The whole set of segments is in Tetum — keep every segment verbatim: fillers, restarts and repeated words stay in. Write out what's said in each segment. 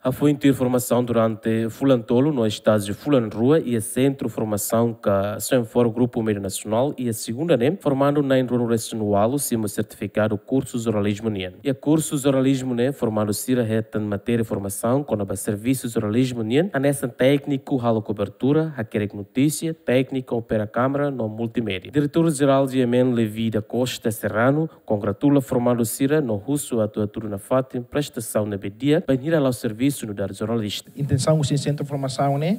Hafoin tuir formasaun durante fulan tolu no estájiu fulan rua iha Sentru Formasaun ka Senfor Grupu Médiu Nasionál iha segunda ne'e, formandu na'in ruanulu resin ualu simu sertifikadu kursu jornalizmu nian. Iha kursu jornalizmu ne'e, formandu sira hetan matéria formasaun kona-ba servisu jornalizmu nian, hanesan tékniku halo kobertura, hakerek notísia, tékniku opera kámara no multimédia. Diretór Jerál G M N, Levi da Costa Serrano, kongratula formandu sira no husu atu hatudu nafatin prestasaun ne'ebé di'ak bainhira la'o servisu nu'udar jornalista. Intensaun husi sentru formasaun ne'e,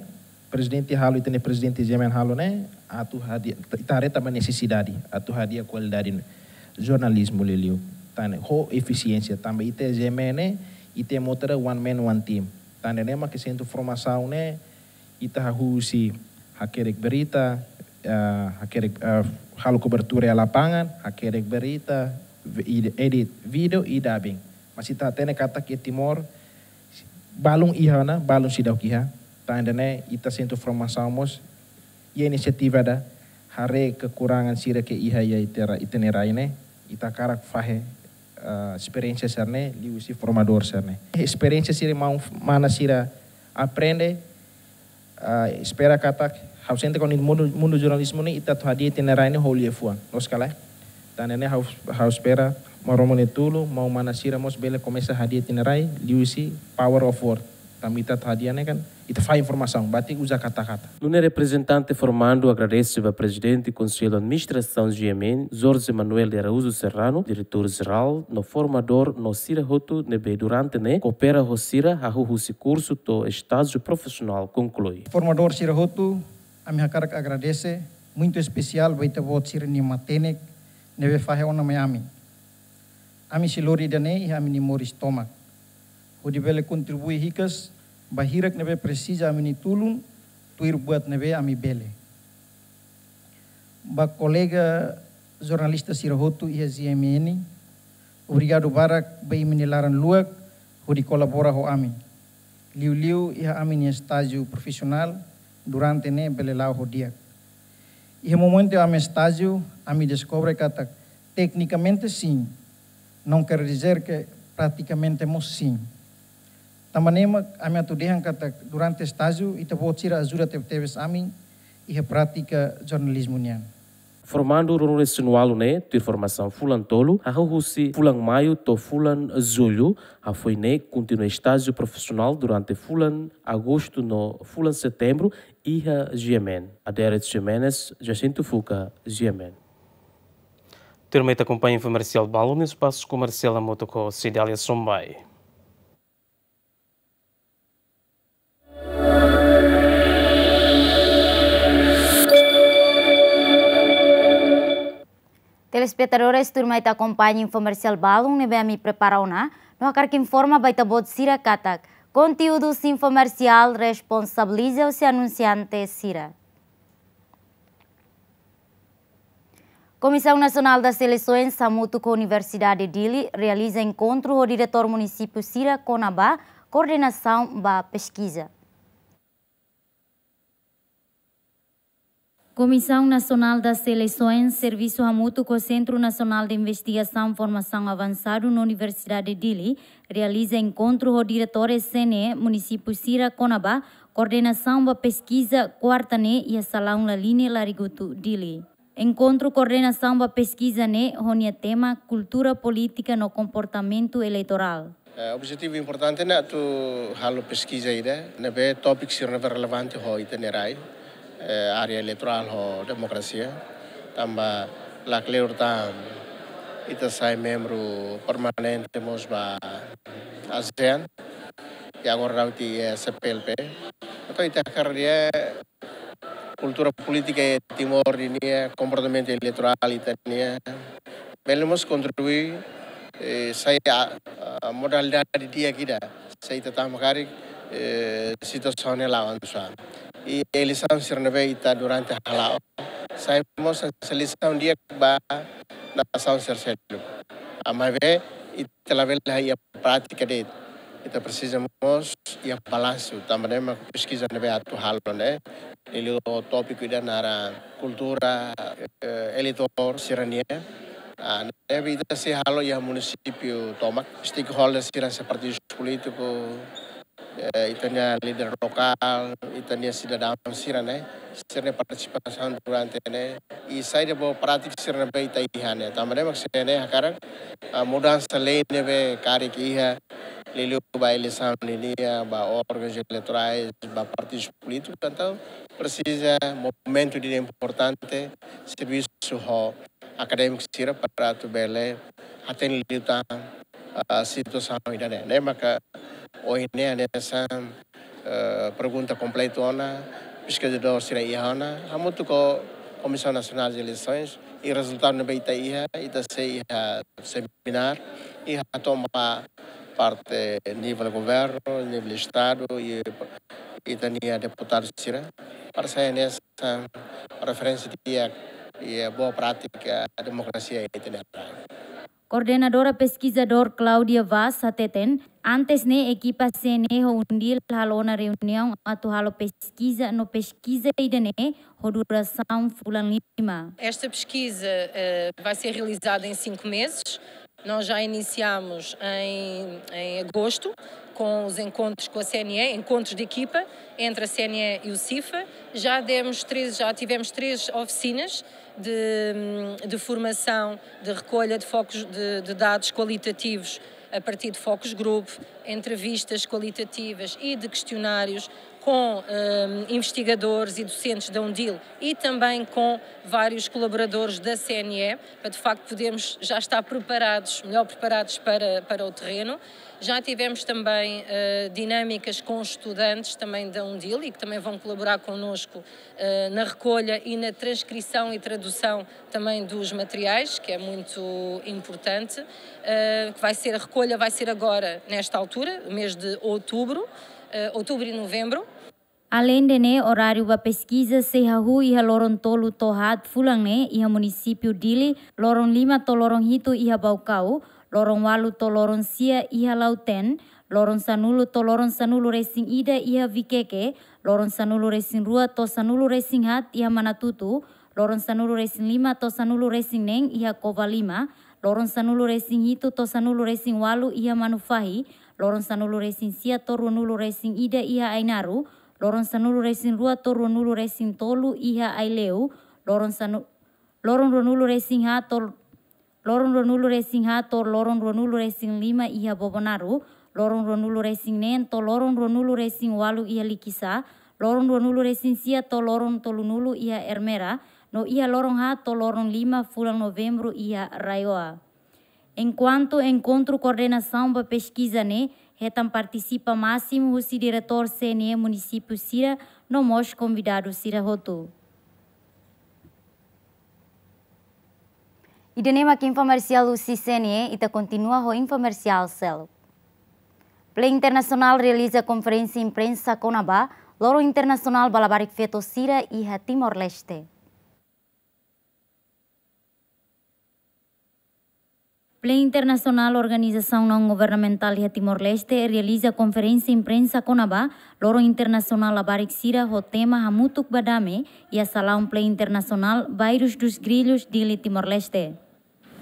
prezidente halo, ita-nia prezidente G M N halo ne'e, atu hadi'a, ita haree tanba nesesidade, atu hadi'a kualidade jornalizmu liuliu. Tan ne'e ho efisiénsia, tanba ita G M N ne'e, ita mós ita one man, one team. Tan ne'e mak sentru formasaun ne'e, ita hahú husi hakerek berita, ah, hakerek, ah, halo kobertura iha lapangan, hakerek berita, vi-, ed-, edit vídeo i dubbing. Mas ita hatene katak iha Timor, balun iha ona, balun seidauk iha. Tan ne'e, ita sentru formasaun mós, iha inisiativa ida, haree kekurangan sira ke iha iha ita-nia ra-, ita-nia rai ne'e, ita hakarak fahe, ah, esperiénsia sira-ne'e, liuhusi formadór sira-ne'e. Esperiénsia sira maun-, mana sira aprende, ah, espera katak, ha'u sente katak mundu, mundu jornalizmu ne'e, ita atu hadi'a ita-nia rai ne'e ho liafuan. Loos ka lae? Tan ne'e ha'u, ha'u espera Maromak nia tulun, maun-mana sira mós bele komesa hadi'a ita-nia rai, liuhusi power of word. Tanba ita atu hadi'a ne'e kan, ita fahe informasaun, batik uza kata-kata. Nune'e reprezentante formandu agradese ba Prezidente Konsellu Administrasaun G M N, Jorge Manuel de Araújo Serrano, Diretór Jerál, no formadór no sira hotu ne'ebé durante ne'e koopera ho sira hahú husi kursu to'o estájiu profisionál konklui. Formadór sira hotu, ami hakarak agradese, muitu espesiál ba ita-boot sira-nia matenek ne'ebé fahe ona mai ami. Ami sei lori ida-ne'e iha ami-nia moris tomak, hodi bele kontribui hikas ba hirak ne'ebé presiza ami-nia tulun, tuir buat ne'ebé ami bele. Ba kolega jornalista sira hotu iha G M N, obrigadu barak ba imi-nia laran luak hodi kolabora ho ami. Liuliu iha ami-nia estájiu profisionál durante ne'e bele la'o ho di'ak. Iha momentu ami estájiu, ami deskobre katak teknikamente sin, não quer dizer que praticamente mós sin. Tanba ne'e mak ami atu dehan katak durante estájiu, ita-boot sira ajuda tebetebes ami iha prátika jornalizmu nian. Formandu ruanulu resin ualu ne'e, tuir formasaun fulan tolu, hahú husi fulan Maiu to'o fulan Jullu, hafoin ne'e kontinua estájiu profisionál durante fulan Agostu no fulan Setembru, iha G M N. Adérito Jimenez, Jacinto Fuca, G M N. Tuirmai ita akompaña informasaun balun iha espasu komersiál hamutuk ho Cidália Sombai. Telespetadores, tuirmai ita akompaña informasaun balun ne'ebé ami prepara ona, no hakarak informa ba ita-boot sira katak konteúdus informasaun responsabiliza husi anunsiante sira. Komisaun Nasionál das Eleisoens hamutuk ho Universidade Dili realiza enkontru ho diretór munisípiu sira kona-ba koordenasaun ba peskiza. Komisaun Nasionál das Eleisoens servisu hamutuk ho Sentru Nasionál de Investigasaun Formasaun Avansadu no Universidade Dili realiza enkontru ho diretór C N E munisípiu sira kona-ba koordenasaun ba peskiza, kuarta ne'e iha Salaun Laline, Larigutu, Dili. Enkontru koordenasaun ba peskiza ne'e ho nia tema Kultura Polítika no Komportamentu Eleitorál. Eh, objetivu importante ne'e atu halo peskiza ida ne'ebé tópiku sira ne'ebé relevante ho ita-nia rai, eh, área eleitorál ho demokrasia. Tanba lakleur tan ita sai membru permanente mós ba ASEAN, i agora daudaun iha C P L P. Entaun ita hakarak haree kultura polítika iha Timor nian, komportamentu eleitorál ita-nian, bele mós kontribui, eh, sai, ah, ah, modalidade di'ak ida, se ita tama karik, eh, situasaun ne'e la'o avansa. I eleisaun sira ne'ebé ita durante hala'o, sai mós sai lisaun di'ak ba nasaun sira seluk. Ah, maibé ita labele iha prátika de'it. Ita presiza mós iha balansu, tanba ne'e mak peskiza ne'ebé atu halo ne'e, liuliu tópiku ida naran kultura, eh, eleitór sira-nian. Ah, ne'ebé ita sei halo iha munisípiu tomak, stakeholders sira hanesan partidu polítiku, eh, ita-nia líder lokál, ita-nia sidadaun sira ne'e, sira-nia partisipasaun durante ne'e, i saida boa prátika sira ne'ebé ita iha ne'e. Tanba ne'e mak C N E hakarak, ah, mudansa lei ne'ebé karik iha, liuliu ba eleisaun nian, ba órgauns eleitorais, ba partidus polítikus, entaun presiza movimentu ida importante, servisu ho akadémiku sira para atu bele hatene liután, ah, situasaun ida-ne'e. Ne'e maka ohin ne'e hanesan, eh, pergunta kompletu ona, peskizadór sira iha ona, hamutuk ho Comissão Nacional de Eleições, i rezultadu ne'ebé ita iha, ita sei iha semináriu, i hato'o ba parte nivel governu, nivel estadu, i ita-nia deputadu sira, para sai hanesan referénsia di'ak, i boa prátika demokrasia ita-nia rai. Koordenadora peskizadór Claudia Vaz hateten, antes ne'e ekipa C N E ho UNDIL halo ona reuniaun atu halo peskiza no peskiza ida-ne'e ho durasaun fulan lima. Esta pesquisa, eh, vai ser realizada em cinco meses. Nós já iniciamos em, em agosto com os encontros com a C N E, encontros de equipa entre a C N E e o CIFA. Já demos três, já tivemos três oficinas de, de formação, de recolha de focos de, de dados qualitativos a partir de focus group, entrevistas qualitativas e de questionários com, ehm, investigadores e docentes da UNDIL e também com vários colaboradores da C N E, para de facto podermos já estar preparados, melhor preparados para, para o terreno. Já tivemos também, eh, dinâmicas com estudantes também da UNDIL e que também vão colaborar connosco, eh, na recolha e na transcrição e tradução também dos materiais, que é muito importante, eh, que vai ser, a recolha vai ser agora, nesta altura, mês de outubro, eh, outubro e novembro. Aleinde ne'e, oráriu ba peskiza sei hahú iha loron tolu to'o haat fulan ne'e iha munisípiu Dili, loron lima to'o loron hitu iha Baucau, loron ualu to'o loron sia iha Lautém, loron sanulu to'o loron sanulu-resin-ida iha Viqueque, loron sanulu-resin-rua to'o sanulu-resin-haat iha Manatuto, loron sanulu-resin-lima to'o sanulu-resin-neen iha Covalima, loron sanulu-resin-hitu to'o sanulu-resin-ualu iha Manufahi, loron sanulu-resin-sia to'o ruanulu-resin-ida iha Ainaro, loron sanulu-resin-rua to'o ruanulu-resin-tolu iha Aileu, loron sanu-, loron ruanulu-resin-haat to'o, loron ruanulu-resin-haat to'o loron ruanulu-resin-lima iha Bobonaro, loron ruanulu-resin-neen to'o loron ruanulu-resin-ualu iha Likisá, loron ruanulu-resin-sia to'o loron tolunulu iha Ermera, no iha loron haat to'o loron lima fulan Novembru iha RAEOA. Enkuantu enkontru koordenasaun ba peskiza ne'e hetan partisipa másimu husi diretór C N E munisípiu sira no mós konvidadu sira hotu. Ida-ne'e mak informa parsiál husi C N E, ita kontinua ho informa parsiál seluk. Plean Internasionál realiza konferénsia imprensa kona-ba Loron Internasionál ba Labarik Feto sira iha Timor-Leste. Plean Internasionál, organizasaun naun-governamentál iha Timor-Leste, realiza konferénsia imprensa kona-ba Loron Internasionál Labarik sira ho tema Hamutuk ba Dame iha salaun Plean Internasionál Bairros dos Grillos, Dili, Timor-Leste.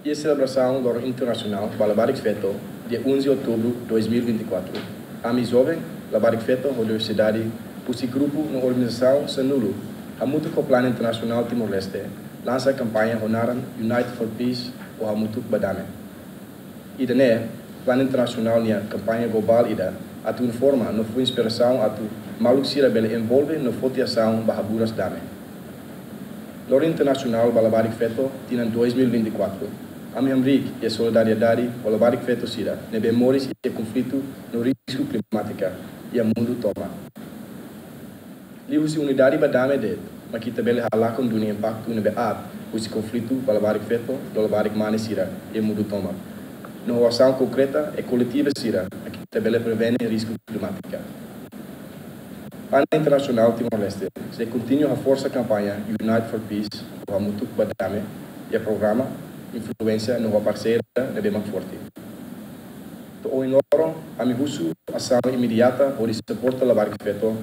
Iha selebrasaun Loron Internasionál ba Labarik Feto, dia onze outubro dois mil e vinte e quatro, ami joven labarik feto ho diversidade husi grupu no organizasaun sanulu, hamutuk ho Plean Internasionál Timor-Leste, lansa kampaña ho naran Unite for Peace ou Hamutuk ba Dame. Ida-ne'e Plean Internasionál nia kampaña globál ida atu informa no fó inspirasaun atu maluk sira bele envolve no foti asaun ba haburas dame. Loron Internasionál ba Labarik Feto tinan dois mil e vinte e quatro, ami hamriik iha solidariedade ho labarik feto sira ne'ebé moris iha konflitu no risku klimátika iha mundu tomak. Liuhusi unidade ba dame de'it mak ita bele halakon duni impaktu ne'ebé aat husi konflitu ba labarik feto no labarik mane sira iha mundu tomak. No ho asaun konkreta i koletiva sira mak ita bele prevene risku klimátika. Plean Internasionál Timor-Leste sei kontinua haforsa kampaña Unite for Peace ou Hamutuk ba Dame iha programa, influénsia no ho parseria ne'ebé mak forte. To'o ohin loron, ami husu asaun imediata hodi suporta labarik feto,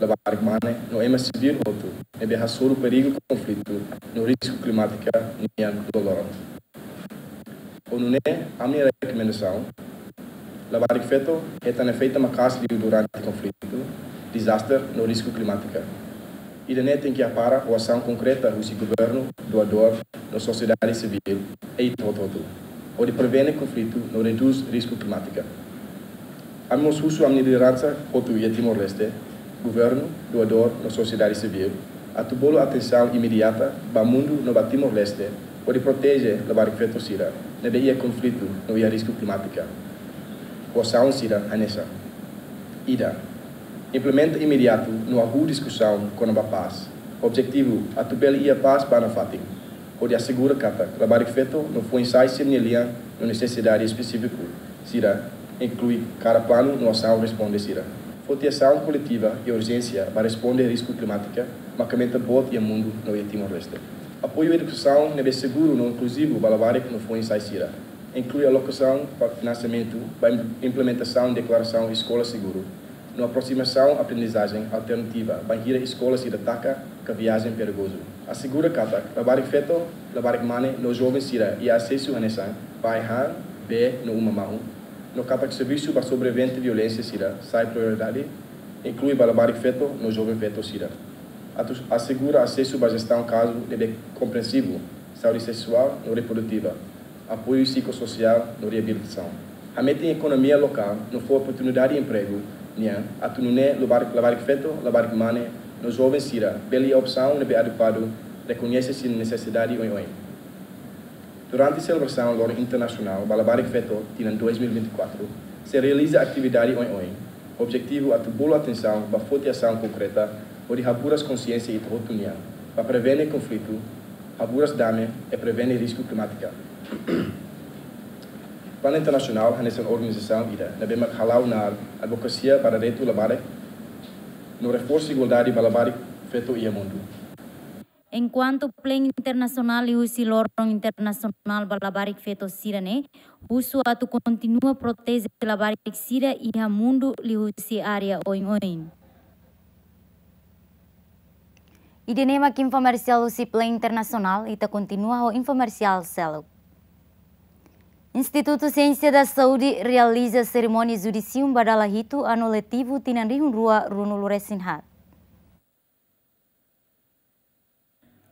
labarik mane no ema sivíl hotu ne'ebé hasoru perigu konflitu no risku klimátika nian loroloron. Ho nune'e, ami-nia rekomendasaun Labarik feto hetan efeitu maka'as liu durante konflitu, dezastre no risku klimátika. Ida-ne'e tenke hapara ho asaun konkreta husi governu, doadór no sosiedade sivíl, i ita hotu-hotu, hodi prevene konflitu no redús risku klimátika. Ami mós husu ami-nia lideransa hotu iha Timor-Leste, governu, doadór no sosiedade sivíl, atu bolu atensaun imediata ba mundu no ba Timor-Leste, hodi proteje labarik feto sira ne'ebé iha konflitu no iha risku klimátika, ho asaun sira hanesan: ida, implementa imediatu no hahú diskusaun kona-ba pás. Objetivu atu bele iha pás ba nafatin, hodi asegura katak labarik feto no foin-sa'e sira-nia lian no nesesidade espesífiku sira inklui kada planu no asaun responde sira. Foti asaun koletiva i urjénsia ba responde risku klimátika, mak aumenta boot iha mundu no iha Timor-Leste. Apoiu edukasaun ne'ebé seguru no inkluzivu ba labarik no foin-sa'e sira, inklui alokasaun ba finansiamentu ba im-, implementasaun deklarasaun eskola seguru, no aprosimasaun aprendizajen alternativa bainhira eskola sira taka ka viajen perigozu. Asegura katak labarik feto, labarik mane no joven sira iha asesu hanesan pai han, bee no uma mahon, no katak servisu ba sobrevivente violénsia sira sai prioridade, inklui ba labarik feto no joven feto sira. Atu asegura asesu ba jestaun kazu ne'ebé komprensivu, saúde seksuál no reprodutiva, apoiu psikososiál no reabilitasaun. Hametin ekonomia lokál no fó oportunidade empregu nian atu nune'e labarik, labarik feto, labarik mane no joven sira bele iha opsaun ne'ebé adekuadu, rekoñese sira-nia nesesidade oioin. Durante selebrasaun Loron Internasionál ba Labarik Feto tinan dois mil e vinte e quatro, sei realiza atividade oioin. Objetivu atu bolu atensaun ba foti asaun konkreta hodi haburas konsiénsia ita hotu nian, ba prevene konflitu, haburas dame i prevene risku klimátika. Planu internasionál hanesan organizasaun ida ne'ebé mak hala'o knaar advokasia ba direitu labarik no reforsa igualdade ba labarik feto iha mundu. Enkuantu planu internasionál liuhusi Loron Internasionál ba Labarik Feto sira-ne'e, husu atu kontinua proteje labarik sira iha mundu liuhusi área oioin. Ida-ne'e mak infomersiál husi planu internasionál, ita kontinua ho infomersiál seluk. Institutu Siénsia da Saúde realiza serimónia judisium ba dala hitu anu letivu tinan rihun rua ruanulu resin haat.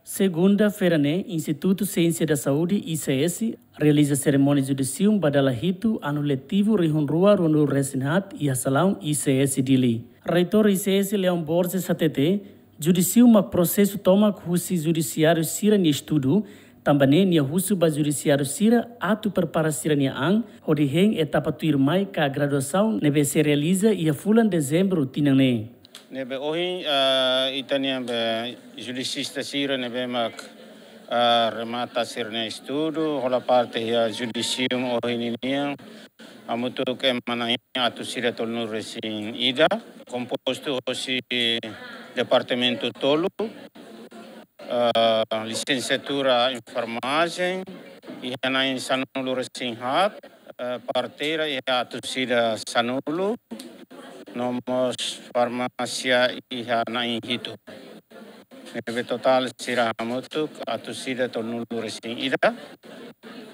Segunda-feira ne'e, Institutu Siénsia da Saúde, I C S, realiza serimónia judisium ba dala hitu anu letivu rihun rua ruanulu resin haat iha salaun I C S Dili. Reitór I C S Leon Borges hatete, judisium mak prosesu tomak husi judisiáriu sira-nia estudu, tanba ne'e nia husu ba judisiáriu sira atu prepara sira-nia an, hodi hein etapa tuirmai ka graduasaun ne'ebé sei realiza iha fulan Dezembru tinan ne'e. Ne'ebé ohin, ah, ita-nia be judisista sira ne'ebé mak, ah, remata sira-nia estudu, hola parte iha judisium ohin ninian, hamutuk ema na'in atus ida tolunulu resin ida, kompostu hosi departamentu tolu, ah, lisensiatura enfermajen, iha na'in sanulu resin haat, eh, parteira iha atus ida sanulu, no mós farmásia iha na'in hitu. Ne'ebé totál sira hamutuk atus ida tolunulu resin ida,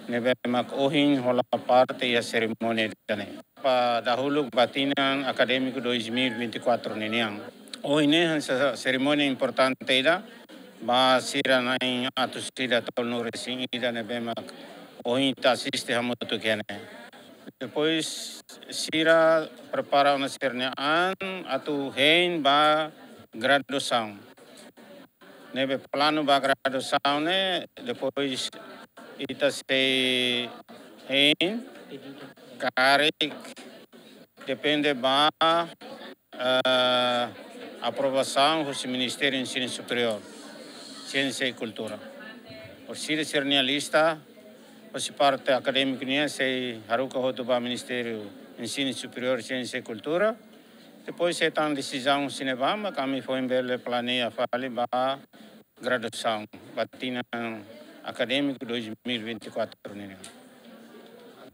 ne'ebé mak ohin hola parte iha serimónia ida-ne'e. Ba dahuluk ba tinan akadémiku dois mil e vinte e quatro ninian. Ohin ne'e hanesan serimónia importante ida, ba sira na'in atus ida tolunulu resin ida ne'ebé mak ohin ita asiste hamutuk iha ne'e. Depois sira prepara ona sira-nia an atu hein ba graduasaun. Ne'ebé planu ba graduasaun ne'e, depois ita sei hein karik, depende ba, eh, aprovasaun husi Ministériu Ensinu Superiór, Siénsia i Kultura. Orsida sira-nia lista, husi parte akadémiku nian sei haruka hotu ba Ministériu Ensinu Superiór, Siénsia i Kultura. Depois sei toma desizaun husi ne'ebá, mak ami foin bele planeia fali ba graduasaun ba tinan akadémiku dois mil e vinte e quatro ninian.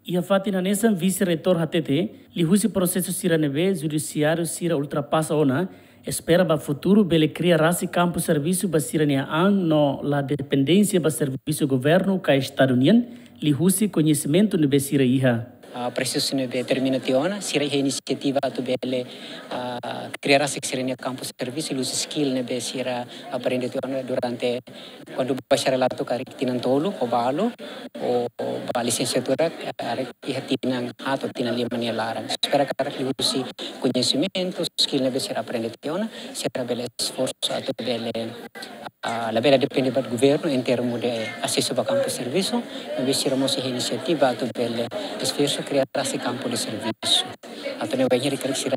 Iha fatin hanesan, vise-reitór hatete, liuhusi prosesu sira ne'ebé judisiáriu sira ultrapasa ona, espera ba futuru bele kria rasik kampu servisu ba sira-nia an no la dependénsia ba servisu governu ka estadu nian, liuhusi koñesimentu ne'ebé sira iha. ah, prosesu ne'ebé termina tiha ona, sira iha inisiativa atu bele, ah, kria rasik sira-nia kampu servisu, liuhusi skill ne'ebé sira aprende tiha ona durante kuandu bachareladu karik tinan tolu ho balu, ou ba lisensiatura karik iha tinan haat ou tinan lima nia laran. Espera karik liuhusi koñesimentu, skill ne'ebé sira aprende tiha ona, sira bele esforsu atu bele, ah, labele depende ba governu em termos de asesu ba kampu servisu, maibé sira mós iha inisiativa atu bele esforsu kria rasik kampu de servisu. Atu nune'e bainhira karik sira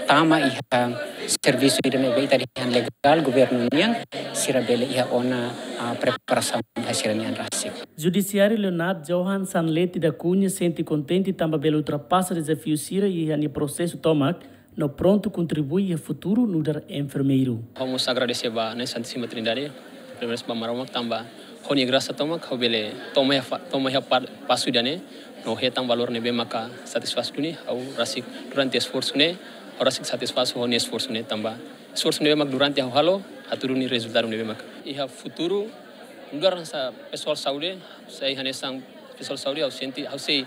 tama iha servisu ida ne'ebé ita dehan legál governu nian, sira bele iha ona, ah, preparasaun ba sira-nian rasik. Judisiáriu Leonard Johan Sanleti da Cunha sente kontente tanba bele ultrapasa dezafiu sira iha nia prosesu tomak, no prontu kontribui iha futuru nu'udar enfermeiru. Ha'u mós agradese ba Na'i Santísima Trindade, primeiru ba Maromak tanba ho nia grasa tomak ha'u bele toma iha fa-, toma iha pa-, pasu ida-ne'e, no hetan valór ne'ebé maka satisfás duni, ha'u rasik durante esforsu ne'e, ha'u rasik satisfás ho nia esforsu ne'e tanba esforsu ne'ebé mak durante ha'u halo, hatudu nia rezultadu ne'ebé mak. Iha futuru, nu'udar hanesan pesoál saúde, sei hanesan pesoál saúde, ha'u sente, ha'u sei,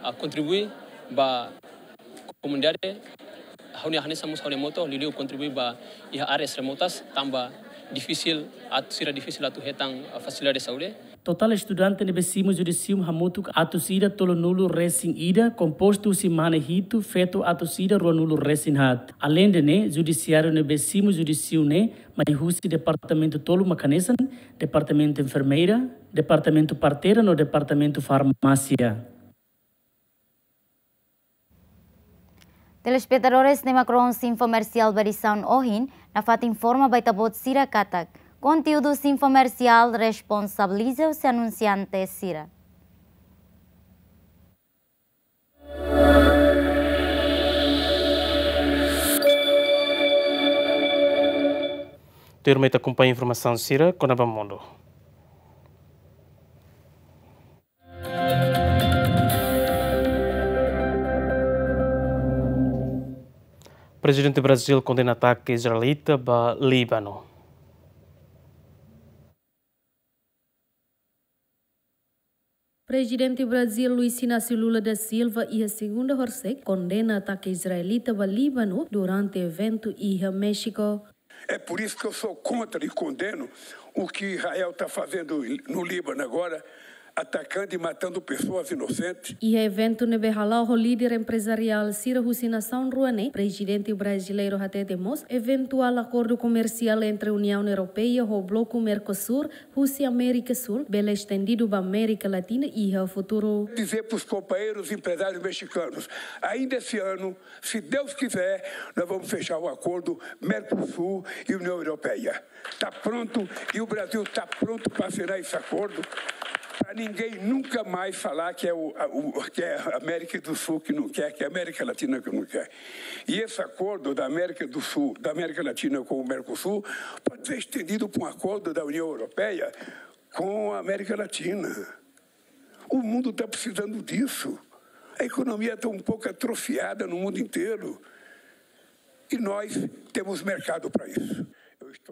ah, kontribui ba komunidade, ha'u-nia hanesan mós ha'u-nia moto, liuliu kontribui ba iha áreas remotas, tanba difisil, atu sira difisil atu hetan, ah, fasilidade saúde. Totál estudante ne'ebé simu judisium hamutuk atus ida tolunulu resin ida, kompostu husi mane hitu, feto atus ida ruanulu resin haat. Aleinde ne'e, judisiáriu ne'ebé simu judisium ne'e, mai husi departamentu tolu mak hanesan, departamentu enfermeira, departamentu parteira no departamentu farmásia. Telespetadores, ne'e mak rona infomersiál ba edisaun ohin, nafatin informa ba ita-boot sira katak konteúdu infomersiál responsabiliza husi anunsiante sira. Tuirmai ita akompaña informasaun sira kona-ba mundu. Prezidente Brazíl kondena atake israelita ba Líbanu. Prezidente Brazíl Luiz Inácio Lula da Silva iha segunda horisehik kondena atake israelita ba Líbanu durante eventu iha Méxiku. É por isso que eu sou contra e condeno o que Israel tá fazendo no Líbano agora, atacando e matando pessoas inocentes. Iha eventu ne'ebé hala'o ho líder emprezariál sira husi nasaun rua ne'e, prezidente brasileiru hatete mós eventuál akordu komersiál entre Uniaun Europeia ho bloku Mercosul husi Amérika Súl bele estendidu ba Amérika Latina iha futuru. Dizer pros companheiros empresários mexicanos, ainda esse ano, se Deus quiser, nós vamos fechar o acordo Mercosul e União Europeia. Tá pronto, e o Brasil tá pronto pra assinar esse acordo, pra ninguém nunca mais falar que é o, a, o, que é a América do Sul que não quer, que é a América Latina que não quer. E esse acordo da América do Sul, da América Latina com o Mercosul, pode ser estendido pra um acordo da União Europeia com a América Latina. O mundo tá precisando disso. A economia tá um pouco atrofiada no mundo inteiro. E nós temos mercado pra isso.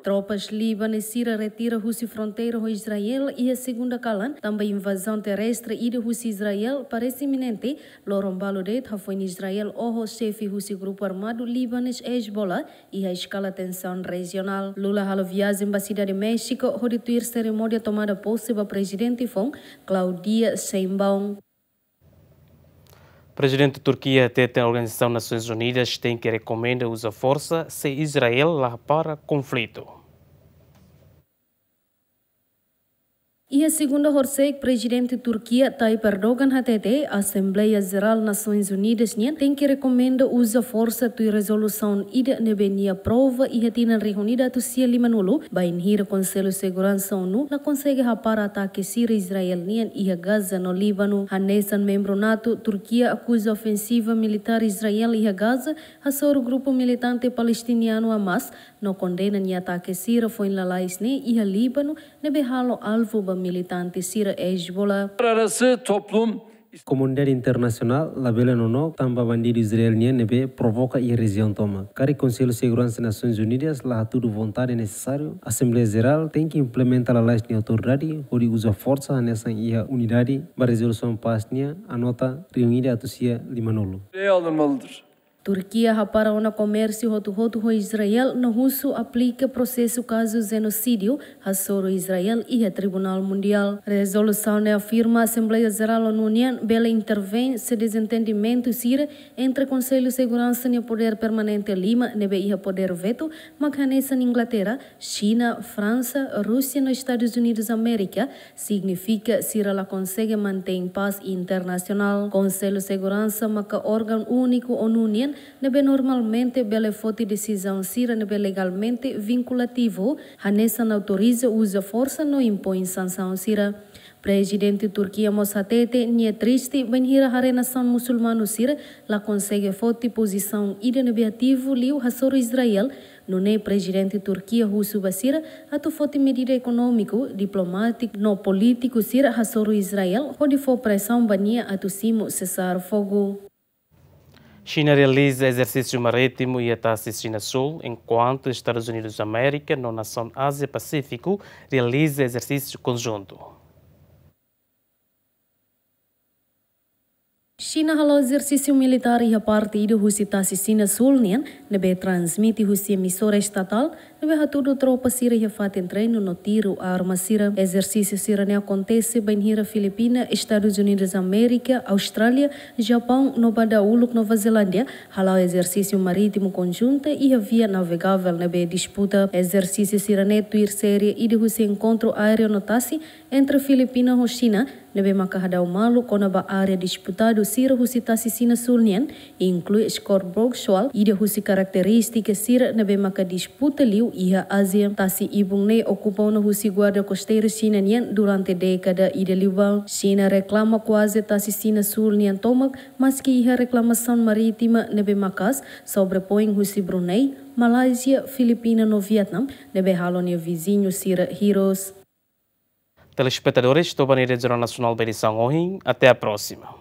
Tropas libanês sira retira husi fronteira ho Israel iha segunda kalan, tanba invazaun terrestre ida husi Israel parese iminente. Loron balu de'it, hafoin Israel oho xefe husi grupu armadu libanês Hezbollah iha eskala tensaun rejionál. Lula halo viajen ba sidade Méxiku hodi tuir serimónia tomada pose ba prezidente foun, Claudia Sheinbaum. Prezidente Turkia hateten Organizasaun Nasoins Unidas tenke rekomenda uza forsa se Israel la hapara konflitu. Iha segunda horisehik, prezidente Turkia Tayyip Erdogan hatete Asembleia Jerál Nasoins Unidas nian tenke rekomenda uza forsa tuir rezolusaun ida ne'ebé nia aprova iha tinan rihun ida atus sia limanulu, bainhira Konsellu Seguransa ONU la konsege hapara atake sira Israel nian iha Gaza no Líbanu. Hanesan membru NATO, Turkia akuza ofensiva militár Israel iha Gaza hasoru grupu militante palestinianu Hamas, no kondena nia atake sira foin lalais ne'e iha Líbanu ne'ebé halo alvu ba militante sira Hezbollah. Uluslararası toplum Komunidade internasionál labele nonook tanba bandidu Israel nian ne'ebé provoka iha rejiaun tomak. Karik Konsellu Seguransa Nasoins Unidas la hatudu vontade nesesáriu, Asembleia Jerál tenke implementa lalais nia autoridade hodi uza forsa hanesan iha unidade ba rezolusaun pás nian, anota rihun ida atus sia limanulu. Turkia hapara ona komérsiu hotu-hotu ho Israel no husu aplika prosesu kazu jenosídiu hasoru Israel iha Tribunál Mundiál. Rezolusaun ne'e afirma Asembleia Jerál ONU nian bele intervein se dezentendimentu sira entre Konsellu Seguransa nia podér permanente lima ne'ebé iha podér vetu, mak hanesan Inglaterra, Xina, Fransa, Rúsia no Estadus Unidus Amérika, signifika sira la konsege mantein pás internasionál. Konsellu Seguransa maka órgaun úniku ONU nian ne'ebé normalmente bele foti desizaun sira ne'ebé legalmente vinkulativu, hanesan autoriza uza forsa no impoin sansaun sira. Prezidente Turkia mós hatete nia triste bainhira haree nasaun musulmanu sira la konsege foti pozisaun ida ne'ebé ativu liu hasoru Israel, nune'e Prezidente Turkia husu ba sira atu foti medida ekonómiku, diplomátiku no polítiku sira hasoru Israel hodi fó presaun ba nia atu simu sesar fogu. Xina realiza ezersísiu marítimu iha Tasi Xina Súl, enkuantu Estadus Unidus Amérika no nasaun Ázia Pasífiku realiza ezersísiu konjuntu. Xina hala'o ezersísiu militár iha parte ida husi Tasi Xina Súl nian, ne'ebé transmite husi emisora estatál, ne'ebé hatudu tropa sira iha fatin treinu no tiru arma sira. Ezersísiu sira-ne'e akontese bainhira Filipina, Estadus Unidus Amérika, Austrália, Japaun no ba dahuluk Nova Zelándia hala'o ezersísiu marítimu konjunta iha via navegavel ne'ebé disputa. Ezersísiu sira-ne'e tuir série ida husi enkontru aéreu no tasi entre Filipina ho Xina, ne'ebé maka hadau malu kona-ba área disputadu sira husi Tasi Xina Súl nian, inklui Scarborough Shoal, ida husi karakterístika sira ne'ebé maka disputa liu iha Ázia. Tasi ibun ne'e okupa ona husi guarda kosteiru Xina nian durante dékada ida liubá. Xina reklama kuaze Tasi Xina Súl nian tomak, maski iha reklamasaun marítima ne'ebé maka'as, sobrepoin husi Brunei, Malázia, Filipina no Vietnam, ne'ebé halo nia viziñu sira hirus. Telespetadores, to'o ba ne'e Jornál Nasionál ba edisaun ohin. Até à próxima.